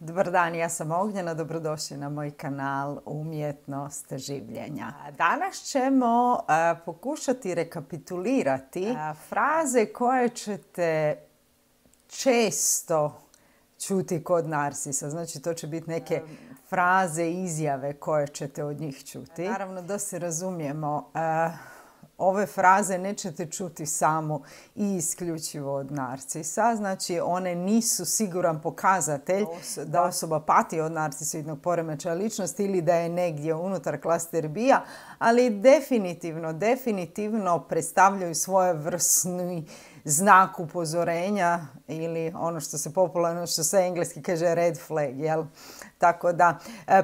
Dobar dan, ja sam Ognjena, dobrodošli na moj kanal Umjetnost življenja. Danas ćemo pokušati rekapitulirati fraze koje ćete često čuti kod narsisa. Znači, to će biti neke fraze, izjave koje ćete od njih čuti. Naravno, da se razumijemo, ove fraze nećete čuti samo i isključivo od narcisa. Znači, one nisu siguran pokazatelj da osoba pati od narcisoidnog poremećaja ličnosti ili da je negdje unutar klaster B-a, ali definitivno predstavljaju svojevrsni znak upozorenja ili ono što se popularno, što se engleski kaže red flag, jel? Tako da,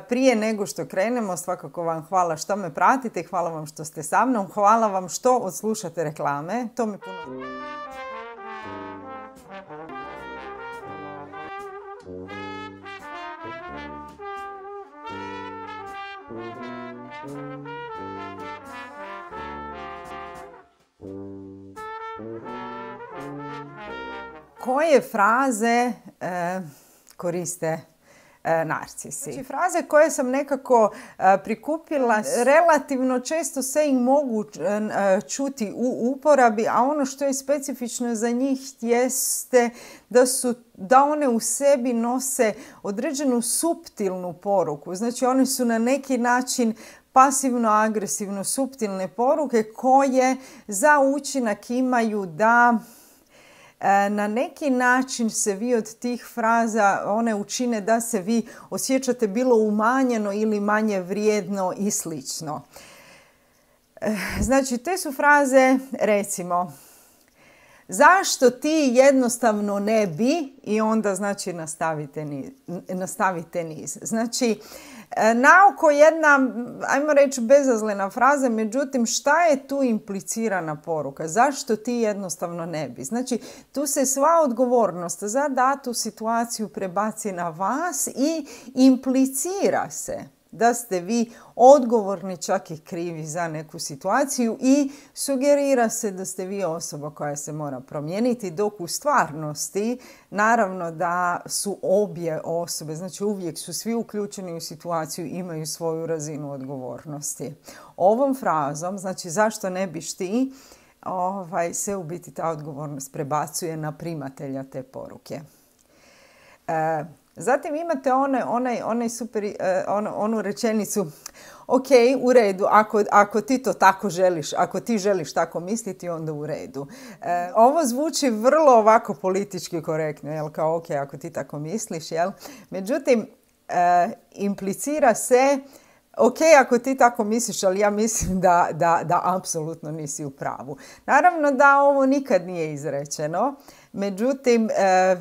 prije nego što krenemo, svakako vam hvala što me pratite, hvala vam što ste sa mnom, hvala vam što odslušate reklame, to mi puno... Koje fraze koriste narcisi? Znači, fraze koje sam nekako prikupila, relativno često se ih mogu čuti u uporabi, a ono što je specifično za njih jeste da one u sebi nose određenu suptilnu poruku. Znači, one su na neki način pasivno-agresivno suptilne poruke koje za učinak imaju da na neki način se vi od tih fraza one učine da se vi osjećate bilo umanjeno ili manje vrijedno i slično. Znači, te su fraze, recimo, zašto ti jednostavno ne bi, i onda znači nastavite niz. Znači, naoko jedna, ajmo reći, bezazlena fraza, međutim, šta je tu implicirana poruka? Zašto ti jednostavno ne bi? Znači, tu se sva odgovornost za datu situaciju prebaci na vas i implicira se da ste vi odgovorni, čak i krivi za neku situaciju i sugerira se da ste vi osoba koja se mora promijeniti, dok u stvarnosti naravno da su obje osobe, znači uvijek su svi uključeni u situaciju, imaju svoju razinu odgovornosti. Ovom frazom, znači zašto ne biš ti, se u biti ta odgovornost prebacuje na primatelja te poruke. Zatim imate onu rečenicu, ok, u redu, ako ti to tako želiš, ako ti želiš tako misliti, onda u redu. Ovo zvuči vrlo ovako politički korektno, jel, kao ok, ako ti tako misliš, jel? Međutim, implicira se, ok, ako ti tako misliš, ali ja mislim da apsolutno nisi u pravu. Naravno da ovo nikad nije izrečeno. Međutim,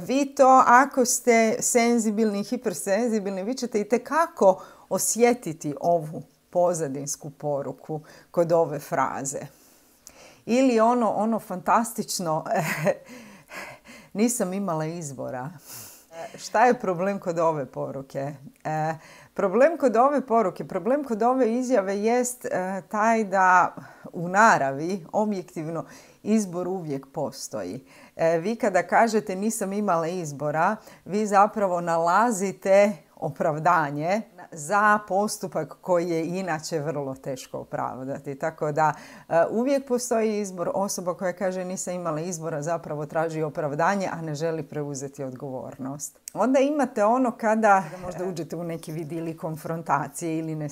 vi to, ako ste senzibilni, hipersenzibilni, vi ćete itekako osjetiti ovu pozadinsku poruku kod ove fraze. Ili ono fantastično, nisam imala izbora. Šta je problem kod ove poruke? Problem kod ove izjave jest taj da u naravi, objektivno, izbor uvijek postoji. Vi kada kažete nisam imala izbora, vi zapravo nalazite opravdanje za postupak koji je inače vrlo teško opravdati. Tako da uvijek postoji izbor. Osoba koja kaže nisam imala izbora zapravo traži opravdanje, a ne želi preuzeti odgovornost. Onda imate ono kada možda uđete u neki vid ili konfrontacije ili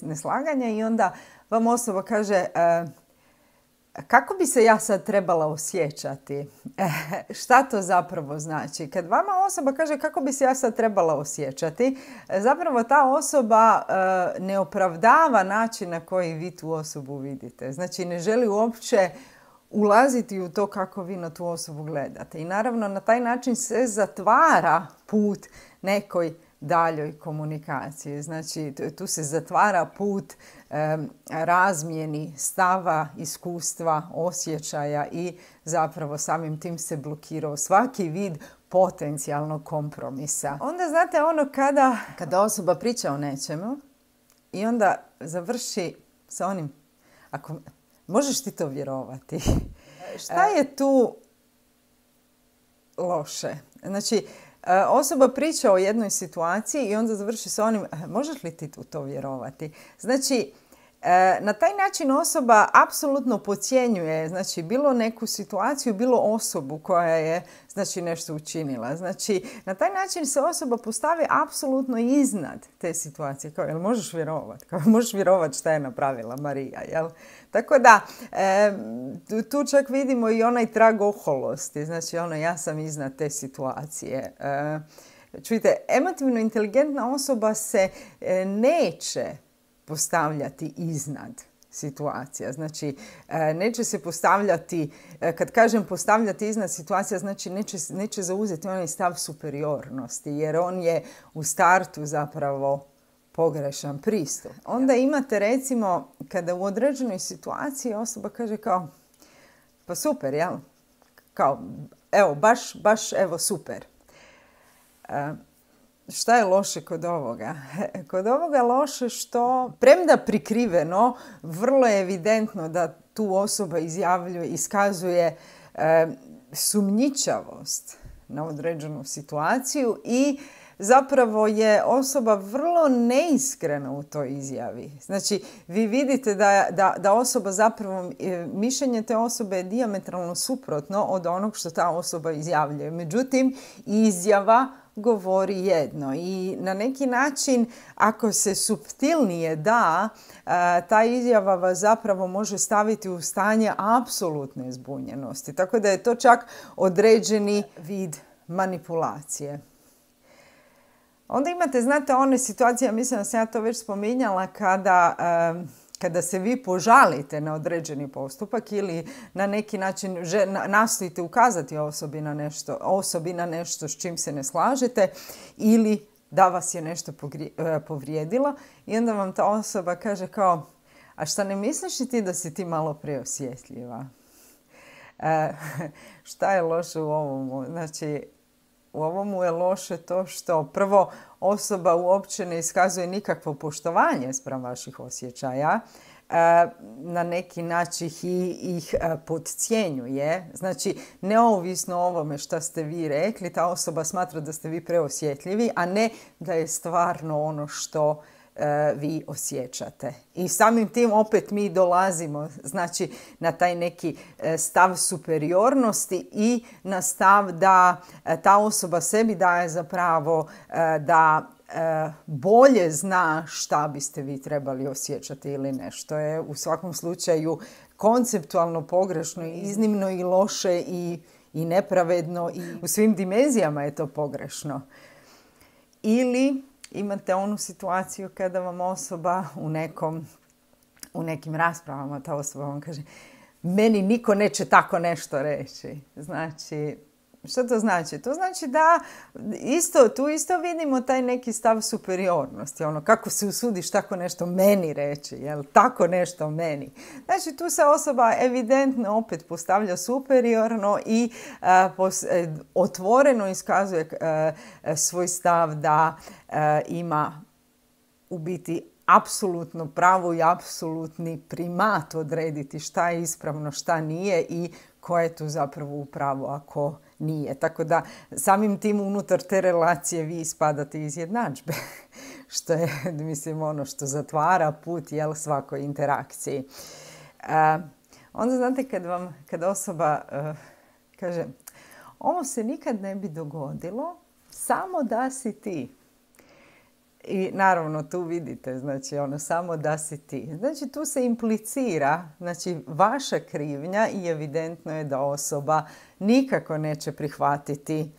neslaganja i onda vam osoba kaže kako bi se ja sad trebala osjećati? Šta to zapravo znači? Kad vama osoba kaže kako bi se ja sad trebala osjećati, zapravo ta osoba ne opravdava način na koji vi tu osobu vidite. Znači, ne želi uopće ulaziti u to kako vi na tu osobu gledate. I naravno na taj način se zatvara put nekoj daljoj komunikaciji. Znači, tu se zatvara put razmjeni stava, iskustva, osjećaja i zapravo samim tim se blokirao svaki vid potencijalnog kompromisa. Onda znate ono kada osoba priča o nečemu i onda završi sa onim, ako možeš ti to vjerovati, šta je tu loše? Znači, Osoba priča o jednoj situaciji i onda završi s onim, možeš li ti u to vjerovati? Znači, na taj način osoba apsolutno podcjenjuje, znači, bilo neku situaciju, bilo osobu koja je, znači, nešto učinila. Znači, na taj način se osoba postavi apsolutno iznad te situacije. Kao, jel možeš vjerovati? Kao, možeš vjerovati šta je napravila Marija, jel? Tako da, tu čak vidimo i onaj trag oholosti. Znači, ja sam iznad te situacije. Čujte, emotivno inteligentna osoba se neće postavljati iznad situacija. Znači, neće se postavljati, kad kažem postavljati iznad situacija, znači neće zauzeti onaj stav superiornosti, jer on je u startu zapravo pogrešan pristup. Onda imate, recimo, kada u određenoj situaciji osoba kaže kao, pa super, jel? Kao, evo, baš, evo, super. Šta je loše kod ovoga? Kod ovoga loše što, premda prikriveno, vrlo je evidentno da tu osoba iskazuje sumnjičavost na određenu situaciju i zapravo je osoba vrlo neiskrena u toj izjavi. Znači, vi vidite da osoba zapravo, mišljenje te osobe je dijametralno suprotno od onog što ta osoba izjavljuje. Međutim, izjava govori jedno i na neki način, ako se suptilnije da, ta izjava vas zapravo može staviti u stanje apsolutne zbunjenosti. Tako da je to čak određeni vid manipulacije. Onda imate, znate, one situacije, mislim da sam ja to već spominjala, kada se vi požalite na određeni postupak ili na neki način nastojite ukazati osobi na nešto s čim se ne slažete ili da vas je nešto povrijedilo i onda vam ta osoba kaže kao, a šta ne misliš i ti da si ti malo preosjetljiva? Šta je loše u ovomu? Znači, u ovomu je loše to što prvo osoba uopće ne iskazuje nikakvo poštovanje spram vaših osjećaja, na neki način ih podcjenjuje. Znači, neovisno o ovome što ste vi rekli, ta osoba smatra da ste vi preosjetljivi, a ne da je stvarno ono što vi osjećate. I samim tim opet mi dolazimo, znači, na taj neki stav superiornosti i na stav da ta osoba sebi daje za pravo da bolje zna šta biste vi trebali osjećati ili ne. Što je u svakom slučaju konceptualno pogrešno, iznimno i loše i nepravedno i u svim dimenzijama je to pogrešno. Ili imate onu situaciju kada vam osoba u nekim raspravama, ta osoba vam kaže, meni niko neće tako nešto reći. Znači, što to znači? To znači da tu isto vidimo taj neki stav superiornosti. Kako se usudiš tako nešto meni reći, jel? Tako nešto meni. Znači, tu se osoba evidentno opet postavlja superiorno i otvoreno iskazuje svoj stav da ima u biti apsolutno pravo i apsolutni primat odrediti šta je ispravno, šta nije i ko je tu zapravo u pravu, ako nije. Tako da samim tim unutar te relacije vi ispadate iz jednadžbe, što je, mislim, ono što zatvara put, jel, svakoj interakciji. Onda, znate, kad osoba kaže, ovo se nikad ne bi dogodilo, samo da si ti. I naravno tu vidite, znači, samo da si ti. Znači, tu se implicira, znači, vaša krivnja i evidentno je da osoba nikako neće prihvatiti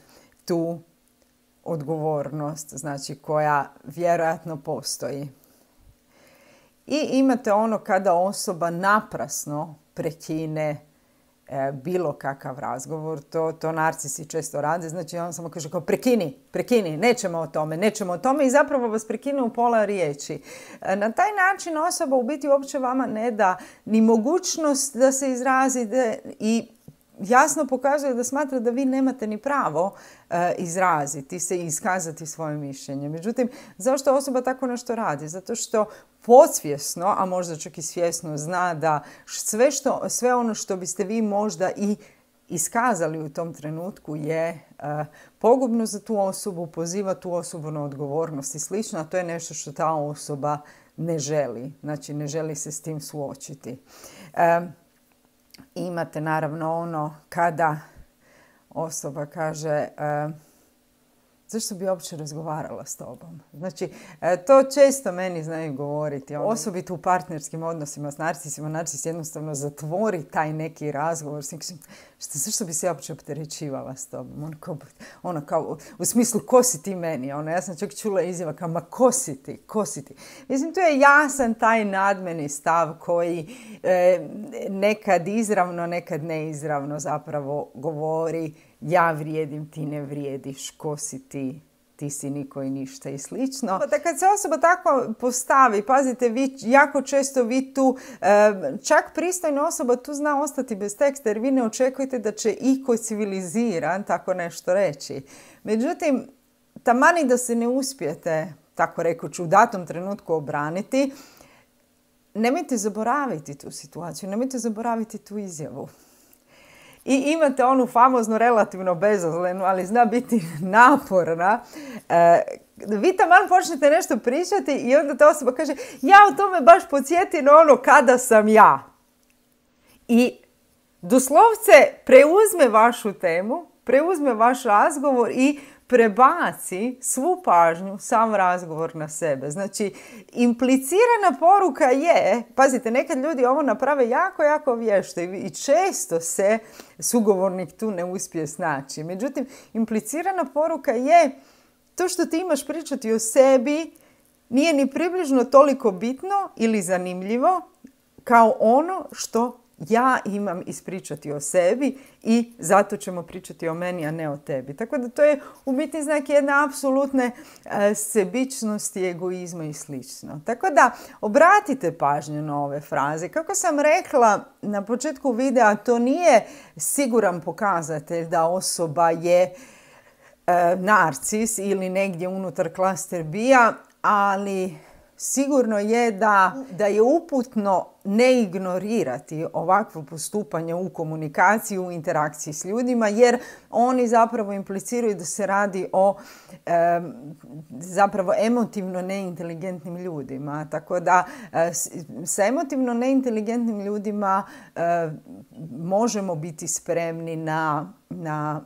tu odgovornost, znači, koja vjerojatno postoji. I imate kada osoba naprasno prekine bilo kakav razgovor, to narcisi često rade, znači on samo kaže kao prekini, nećemo o tome i zapravo vas prekine u pola riječi. Na taj način osoba u biti uopće vama ne da ni mogućnost da se izrazite i jasno pokazuje da smatra da vi nemate ni pravo izraziti se i iskazati svoje mišljenje. Međutim, zašto osoba tako nešto radi? Zato što podsvjesno, a možda čak i svjesno, zna da sve ono što biste vi možda i iskazali u tom trenutku je pogubno za tu osobu, poziva tu osobu na odgovornost i slično, a to je nešto što ta osoba ne želi. Znači, ne želi se s tim suočiti. Imate naravno ono kada osoba kaže zašto bi uopće razgovarala s tobom? Znači, to često meni znaju govoriti. Osobito u partnerskim odnosima s narcisima. Narcis jednostavno zatvori taj neki razgovor. Zašto bi se uopće opterećivala s tobom? U smislu, ko si ti meni? Ja sam čak čula izjava kao, ma ko si ti? Ko si ti? Mislim, to je jasan taj nadmeni stav koji nekad izravno, nekad neizravno zapravo govori ja vrijedim, ti ne vrijediš, ko si ti, ti si niko i ništa i slično. Da kad se osoba tako postavi, pazite, jako često vi tu, čak pristojna osoba tu zna ostati bez teksta jer vi ne očekujete da će iko civiliziran tako nešto reći. Međutim, tamani da se ne uspijete, tako rekući, u datom trenutku obraniti, nemojte zaboraviti tu situaciju, nemojte zaboraviti tu izjavu. I imate onu famoznu relativno bezazlenu, ali zna biti naporna. Vi taman počnete nešto pričati i onda ta osoba kaže ja o tome baš podsjetim ono kada sam ja. I doslovce preuzme vašu temu, preuzme vaš razgovor i prebaci svu pažnju, sam razgovor na sebe. Znači, implicirana poruka je, pazite, nekad ljudi ovo naprave jako, jako vješto i često se sugovornik tu ne uspije snaći. Međutim, implicirana poruka je to što ti imaš pričati o sebi nije ni približno toliko bitno ili zanimljivo kao ono što ja imam ispričati o sebi i zato ćemo pričati o meni, a ne o tebi. Tako da to je u biti znak jedne apsolutne sebičnosti, egoizma i slično. Tako da obratite pažnju na ove fraze. Kako sam rekla na početku videa, to nije siguran pokazatelj da osoba je narcis ili negdje unutar klaster B-a, ali sigurno je da je uputno ne ignorirati ovakvo postupanje u komunikaciji, u interakciji s ljudima, jer oni zapravo impliciraju da se radi o zapravo emotivno neinteligentnim ljudima. Tako da sa emotivno neinteligentnim ljudima možemo biti spremni na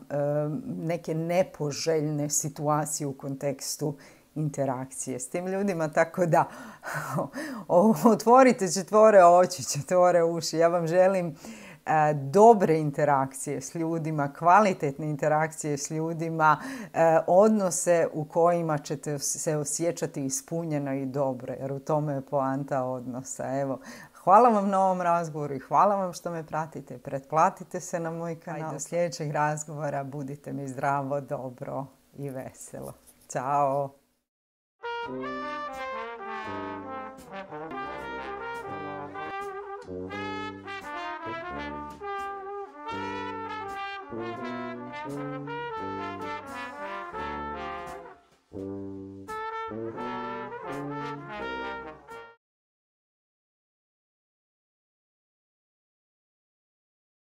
neke nepoželjne situacije u kontekstu interakcije s tim ljudima, tako da otvorite četvore oči, četvore uši. Ja vam želim dobre interakcije s ljudima, kvalitetne interakcije s ljudima, odnose u kojima ćete se osjećati ispunjeno i dobro, jer u tome je poanta odnosa. Evo, hvala vam na ovom razgovoru i hvala vam što me pratite. Pretplatite se na moj kanal. Do sljedećeg razgovora budite mi zdravo, dobro i veselo. Ćao!